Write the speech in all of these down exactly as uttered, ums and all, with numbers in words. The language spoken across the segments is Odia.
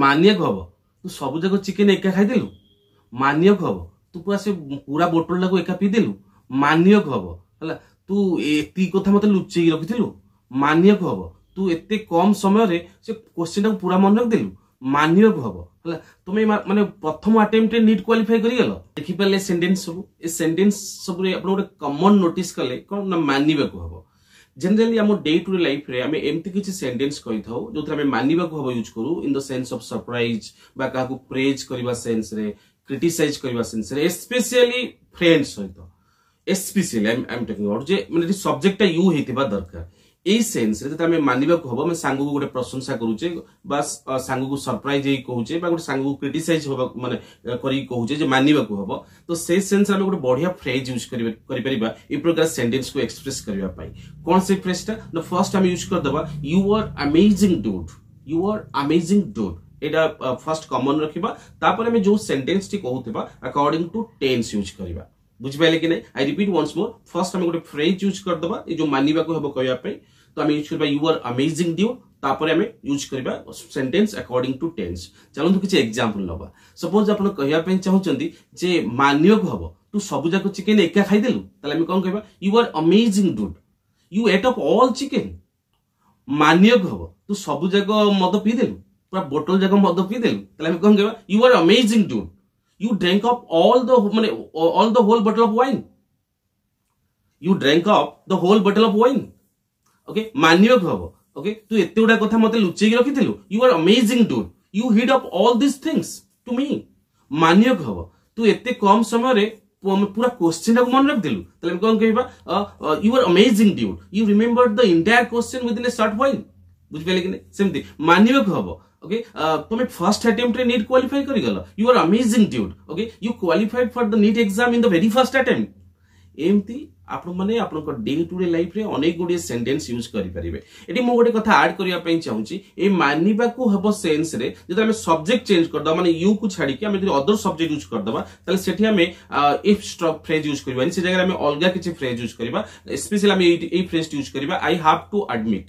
ମାନିବାକୁ ହବ ତୁ ସବୁ ଯାକ ଚିକେନ ଏକା ଖାଇଦେଲୁ ମାନିବାକୁ ହବ ତୁ ପୁରା ସେ ପୁରା ବୋଟଲଟାକୁ ଏକା ପିଇଦେଲୁ ମାନିବାକୁ ହବ ହେଲା ତୁ ଏତିକି କଥା ମତେ ଲୁଚେଇକି ରଖିଥିଲୁ ମାନିବାକୁ ହବ ତୁ ଏତେ କମ ସମୟରେ ସେ କୋଶ୍ଚିନ୍ଟାକୁ ପୁରା ମନେ ରଖିଦେଲୁ ମାନିବାକୁ ହବ ହେଲା ତୁମେ ମା- ମାନେ ପ୍ରଥମ ଆଟେମ୍ପ୍ଟରେ ନିଟ୍ କ୍ୱାଲିଫାଇ କରିଗଲ ଦେଖିପାରିଲେ ସେଣ୍ଟେନ୍ସ ସବୁ ଏ ସେଣ୍ଟେନ୍ସ ସବୁରେ ଆପଣ ଗୋଟେ କମନ ନୋଟିସ୍ କଲେ କଣ ନା ମାନିବାକୁ ହବ ଜେନେରାଲି ଆମ ଡେ ଟୁ ଡେ ଲାଇଫରେ ଆମେ ଏମିତି କିଛି ସେଣ୍ଟେନ୍ସ କହିଥାଉ ଯୋଉଥିରେ ଆମେ ମାନିବାକୁ ହବ ୟୁଜ୍ କରୁ in the sense of surprise ବା କାହାକୁ ପ୍ରେଜ୍ କରିବା ସେନ୍ସରେ କ୍ରିଟିସାଇଜ କରିବା ସେନ୍ସରେ ଏସ୍ପେସିଆଲି ଫ୍ରେଣ୍ଡ ସହିତ especially I am talking about ଯେ ମାନେ ଏଠି ସବଜେକ୍ଟଟା you ହେଇଥିବା ଦରକାର ଏଇ ସେନ୍ସରେ ଯେତେବେଳେ ଆମେ ମାନିବାକୁ ହବ ଆମେ ସାଙ୍ଗକୁ ଗୋଟେ ପ୍ରଶଂସା କରୁଛେ ବା ସ- ସାଙ୍ଗକୁ ସରପ୍ରାଇଜ ହେଇକି କହୁଛେ ବା ଗୋଟେ ସାଙ୍ଗକୁ କ୍ରିଟିସାଇଜ ହବା ମାନେ କରିକି କହୁଛେ ଯେ ମାନିବାକୁ ହବ ତ ସେଇ ସେନ୍ସରେ ଆମେ ଗୋଟେ ବଢିଆ ଫ୍ରେଜ୍ ୟୁଜ୍ କରିପାରିବା ଏଇ ପ୍ରକାର ସେଣ୍ଟେନ୍ସକୁ ଏକ୍ସପ୍ରେସ କରିବା ପାଇଁ କଣ ସେଇ ଫ୍ରେଜଟା ନା ଫର୍ଷ୍ଟ ଆମେ ୟୁଜ୍ କରିଦେବା you are amazing dude you are amazing dude ଏଇଟା ଫାର୍ଷ୍ଟ କମନ ରଖିବା ତାପରେ ଆମେ ଯୋଉ ସେଣ୍ଟେନ୍ସଟି କହୁଥିବା ଆକର୍ଡିଂ ଟୁ ଟେନ୍ସ ୟୁଜ୍ କରିବା ବୁଝିପାରିଲେ କି ନାଇଁ I repeat once more first ଆମେ ଗୋଟେ ଫ୍ରେଜ୍ ୟୁଜ୍ କରିଦେବା ଏଇ ଯୋଉ ମାନିବାକୁ ହେବ କହିବା ପାଇଁ ତ ଆମେ ୟୁଜ୍ କରିବା you are amazing dude ତାପରେ ଆମେ ୟୁଜ୍ କରିବା ସେଣ୍ଟେନ୍ସ ଆକର୍ଡିଂ ଟୁ ଟେନ୍ସ ଚାଲନ୍ତୁ କିଛି ଏକ୍ଜାମ୍ପଲ ନବା ସପୋଜ ଆପଣ କହିବା ପାଇଁ ଚାହୁଁଛନ୍ତି ଯେ ମାନିବାକୁ ହବ ତୁ ସବୁ ଯାକ ଚିକେନ ଏକା ଖାଇଦେଲୁ ତାହେଲେ ଆମେ କଣ କହିବା you are amazing dude you ate up all chicken ମାନିବାକୁ ହବ ତୁ ସବୁ ଯାକ ମଦ ପିଇଦେଲୁ ପୁରା ବୋଟଲ ଯାକ ମଦ ପିଇଦେଲୁ ତାହେଲେ ଆମେ କଣ କହିବା you are amazing dude you drank up all the ମାନେ all the whole bottle of wine you drank up the whole bottle of wine okay ମାନିବାକୁ ହବ ଓକେ ତୁ ଏତେ ଗୁଡା କଥା ମତେ ଲୁଚେଇକି ରଖିଥିଲୁ you are amazing dude you hid up all these things to me ମାନିବାକୁ ହବ ତୁ ଏତେ କମ ସମୟରେ ପୁରା କୋଶ୍ଚିନ୍ଟାକୁ ମନେ ରଖିଦେଲୁ ତାହେଲେ ଆମେ କଣ କହିବା you are amazing dude you remember the entire question within a short while ବୁଝିପାରିଲେ କି ନାଇଁ ସେମିତି ମାନିବାକୁ ହବ ଓକେ ତମେ ଫର୍ଷ୍ଟ ଆଟେମ୍ପ୍ଟରେ ନିଟ୍ କ୍ୱାଲିଫାଇ କରିଗଲ you are amazing dude okay you qualified for the NEET exam in the very first attempt ଏମିତି ଆପଣମାନେ ଆପଣଙ୍କ ଡେ ଟୁ ଡେ ଲାଇଫରେ ଅନେକ ଗୁଡ଼ିଏ ସେଣ୍ଟେନ୍ସ ୟୁଜ୍ କରିପାରିବେ ଏଠି ମୁଁ ଗୋଟେ କଥା ଆଡ୍ କରିବା ପାଇଁ ଚାହୁଁଛି ଏଇ ମାନିବାକୁ ହେବ ସେନ୍ସରେ ଯଦି ଆମେ ସବଜେକ୍ଟ ଚେଞ୍ଜ କରିଦେବା ମାନେ you କୁ ଛାଡ଼ିକି ଆମେ ଯଦି ଅଦର ସବଜେକ୍ଟ ୟୁଜ୍ କରିଦେବା ତାହେଲେ ସେଠି ଆମେ ଏ ଫ୍ରେଜ୍ ୟୁଜ୍ କରିବାନି ସେ ଜାଗାରେ ଆମେ ଅଲଗା କିଛି ଫ୍ରେଜ୍ ୟୁଜ୍ କରିବା ସ୍ପେଶାଲି ଆମେ ଏଇ ଏଇ ଫ୍ରେଜ୍ ୟୁଜ୍ କରିବା I have to admit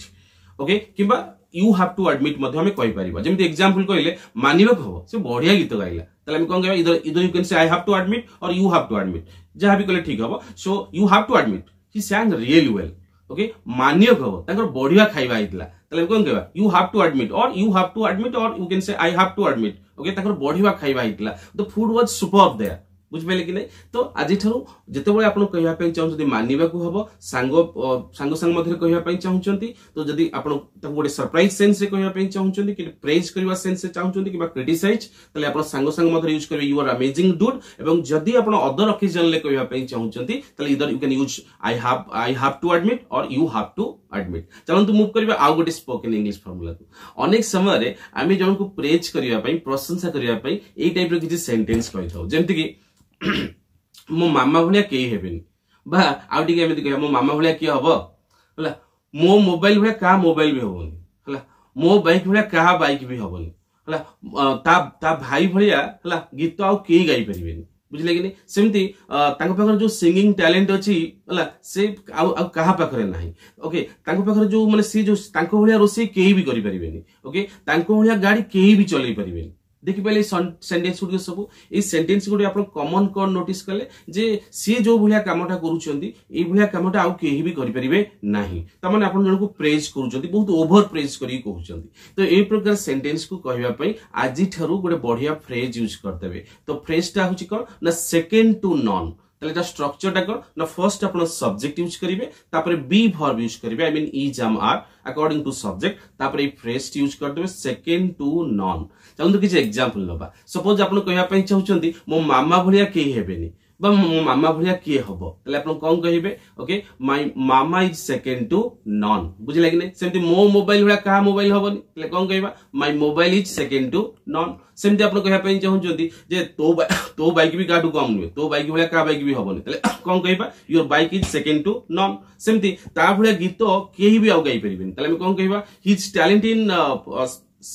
okay କିମ୍ବା you have to admit ମଧ୍ୟ ଆମେ କହିପାରିବା ଯେମିତି ଏକ୍ସାମ୍ପଲ କହିଲେ ମାନିବାକୁ ହବ ସେ ବଢିଆ ଗୀତ ଗାଇଲା ତାହେଲେ ଆମେ କଣ କହିବା either either you can say I have to admit or you have to admit ଯାହା ବି କଲେ ଠିକ ହବ so you have to admit he sang really well okay ମାନିବାକୁ ହବ ତାଙ୍କର ବଢିଆ ଖାଇବା ହେଇଥିଲା ତାହେଲେ ଆମେ କଣ କହିବା you have to admit or you have to admit or you can say I have to admit okay ତାଙ୍କର ବଢିଆ ଖାଇବା ହେଇଥିଲା the food was super there ବୁଝିପାରିଲେ କି ନାଇଁ ତ ଆଜିଠାରୁ ଯେତେବେଳେ ଆପଣ କହିବା ପାଇଁ ଚାହୁଁଛନ୍ତି ମାନିବାକୁ ହବ ସାଙ୍ଗ ସାଙ୍ଗ ସାଙ୍ଗ ମଧ୍ୟରେ କହିବା ପାଇଁ ଚାହୁଁଛନ୍ତି ତ ଯଦି ଆପଣ ତାକୁ ଗୋଟେ ସରପ୍ରାଇଜ ସେନ୍ସରେ କହିବା ପାଇଁ ଚାହୁଁଛନ୍ତି କି ପ୍ରେଜ୍ କରିବା ସେନ୍ସରେ ଚାହୁଁଛନ୍ତି କିମ୍ବା କ୍ରିଟିସାଇଜ ତାହେଲେ ଆପଣ ସାଙ୍ଗ ସାଙ୍ଗ ମଧ୍ୟରେ ୟୁଜ୍ କରିବେ you are amazing dude ଏବଂ ଯଦି ଆପଣ ଅଦର ଅକେଜନରେ କହିବା ପାଇଁ ଚାହୁଁଛନ୍ତି ତାହେଲେ either you can use I have I have to admit or you have to admit ଚାଲନ୍ତୁ ମୁଭ୍ କରିବା ଆଉ ଗୋଟେ ସ୍ପୋକେନ୍ ଇଂଲିଶ ଫର୍ମୁଲାକୁ ଅନେକ ସମୟରେ ଆମେ ଜଣକୁ ପ୍ରେଜ୍ କରିବା ପାଇଁ ପ୍ରଶଂସା କରିବା ପାଇଁ ଏଇ ଟାଇପର କିଛି ସେଣ୍ଟେନ୍ସ କହିଥାଉ ଯେମିତିକି ମୋ ମାମା ଭଳିଆ କେହି ହେବେନି ବା ଆଉ ଟିକେ ଏମିତି କହିବା ମୋ ମାମା ଭଳିଆ କିଏ ହବ ହେଲା ମୋ ମୋବାଇଲ ଭଳିଆ କାହା ମୋବାଇଲ ବି ହବନି ହେଲା ମୋ ବାଇକ୍ ଭଳିଆ କାହା ବାଇକ୍ ବି ହବନି ହେଲା ତା ତା ଭାଇ ଭଳିଆ ହେଲା ଗୀତ ଆଉ କେହି ଗାଇପାରିବେନି ବୁଝିଲେ କି ନାଇଁ ସେମିତି ତାଙ୍କ ପାଖରେ ଯୋଉ ସିଙ୍ଗିଂ ଟ୍ୟାଲେଣ୍ଟ ଅଛି ହେଲା ସେ ଆଉ ଆଉ କାହା ପାଖରେ ନାହିଁ ଓକେ ତାଙ୍କ ପାଖରେ ଯୋଉ ମାନେ ସିଏ ଯୋଉ ତାଙ୍କ ଭଳିଆ ରୋଷେଇ କେହି ବି କରିପାରିବେନି ଓକେ ତାଙ୍କ ଭଳିଆ ଗାଡି କେହି ବି ଚଲେଇ ପାରିବେନି ଦେଖିପାରିଲେ ଏଇ ସେଣ୍ଟେନ୍ସ ଗୁଡ଼ିକ ସବୁ ଏଇ ସେଣ୍ଟେନ୍ସ ଗୁଡ଼ିକ ଆପଣ କମନ କଣ ନୋଟିସ୍ କଲେ ଯେ ସିଏ ଯୋଉ ଭଳିଆ କାମଟା କରୁଛନ୍ତି ଏଇ ଭଳିଆ କାମଟା ଆଉ କେହି ବି କରିପାରିବେ ନାହିଁ ତାମାନେ ଆପଣ ଜଣକୁ ପ୍ରେଜ୍ କରୁଛନ୍ତି ବହୁତ ଓଭର ପ୍ରେଜ୍ କରିକି କହୁଛନ୍ତି ତ ଏଇ ପ୍ରକାର ସେଣ୍ଟେନ୍ସକୁ କହିବା ପାଇଁ ଆଜିଠାରୁ ଗୋଟେ ବଢିଆ ଫ୍ରେଜ୍ ୟୁଜ୍ କରିଦେବେ ତ ଫ୍ରେଜଟା ହଉଛି କଣ ନା ସେକେଣ୍ଡ ଟୁ ନନ୍ ତାହେଲେ ଏଟା ଷ୍ଟ୍ରକ୍ଚରଟା କଣ ନା ଫର୍ଷ୍ଟ ଆପଣ ସବଜେକ୍ଟ ୟୁଜ୍ କରିବେ ତାପରେ ବି ଭର୍ବ ୟୁଜ୍ କରିବେ I mean is am are according to subject ତାପରେ ଏଇ ଫ୍ରେଜ୍ ୟୁଜ୍ କରିଦେବେ ସେକେଣ୍ଡ ଟୁ ନନ୍ ଚାଲନ୍ତୁ କିଛି ଏକ୍ସାମ୍ପଲ ନବା ସପୋଜ ଆପଣ କହିବା ପାଇଁ ଚାହୁଁଛନ୍ତି ମୋ ମାମା ଭଳିଆ କେହି ହେବେନି ବା ମୋ ମାମା ଭଳିଆ କିଏ ହବ ତାହେଲେ ଆପଣ କଣ କହିବେ okay my mama is second to none ବୁଝିଲା କି ନାଇଁ ସେମିତି ମୋ ମୋବାଇଲ ଭଳିଆ କାହା ମୋବାଇଲ ହବନି ତାହେଲେ କଣ କହିବା my mobile is second to none ସେମିତି ଆପଣ କହିବା ପାଇଁ ଚାହୁଁଛନ୍ତି ଯେ ତୋ ତୋ ବାଇକ୍ ବି କାହାଠୁ କମ ନୁହେଁ ତୋ ବାଇକ୍ ଭଳିଆ କାହା ବାଇକ୍ ବି ହବନି ତାହେଲେ କଣ କହିବା your bike is second to none ସେମିତି ତା ଭଳିଆ ଗୀତ କେହି ବି ଆଉ ଗାଇପାରିବେନି ତାହେଲେ ଆମେ କଣ କହିବା his talent in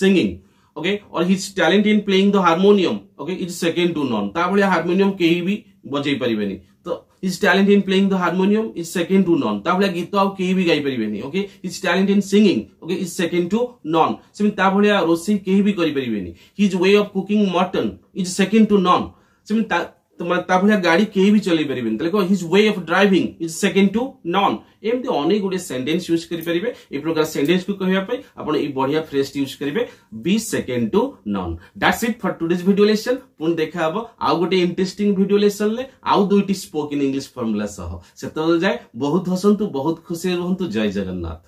singing okay or his talent in playing the harmonium okay is second to none ତା ଭଳିଆ ହାରମୋନିୟମ କେହି ବି ବଜେଇ ପାରିବେନି ତ his talent in playing the harmonium is second to none ତା ଭଳିଆ ଗୀତ ଆଉ କେହି ବି ଗାଇ ପାରିବେନି okay his talent in singing okay is second to none ସେମିତି ତା ଭଳିଆ ରୋଷେଇ କେହି ବି କରିପାରିବେନି his way of cooking mutton is second to none ସେମିତି ତା ମାନେ ତା ଭଳିଆ ଗାଡି କେହି ବି ଚଲେଇ ପାରିବେନି ତାହେଲେ କଣ his way of driving is second to none ଏମିତି ଅନେକ ଗୁଡ଼ିଏ ସେଣ୍ଟେନ୍ସ ୟୁଜ କରିପାରିବେ ଏଇ ପ୍ରକାର ସେଣ୍ଟେନ୍ସକୁ କହିବା ପାଇଁ ଆପଣ ଏଇ ବଢିଆ ଫ୍ରେଜ୍ ୟୁଜ କରିବେ be second to none that's it for today's video lesson ପୁଣି ଦେଖା ହବ ଆଉ ଗୋଟେ ଇଣ୍ଟରେଷ୍ଟିଂ ଭିଡିଓ ଲେସନରେ ଆଉ ଦୁଇଟି ସ୍ପୋକେନ୍ ଇଂଲିଶ ଫର୍ମୁଲା ସହ ସେତେବେଳେ ଯାଏ ବହୁତ ହସନ୍ତୁ ବହୁତ ଖୁସିରେ ରୁହନ୍ତୁ ଜୟ ଜଗନ୍ନାଥ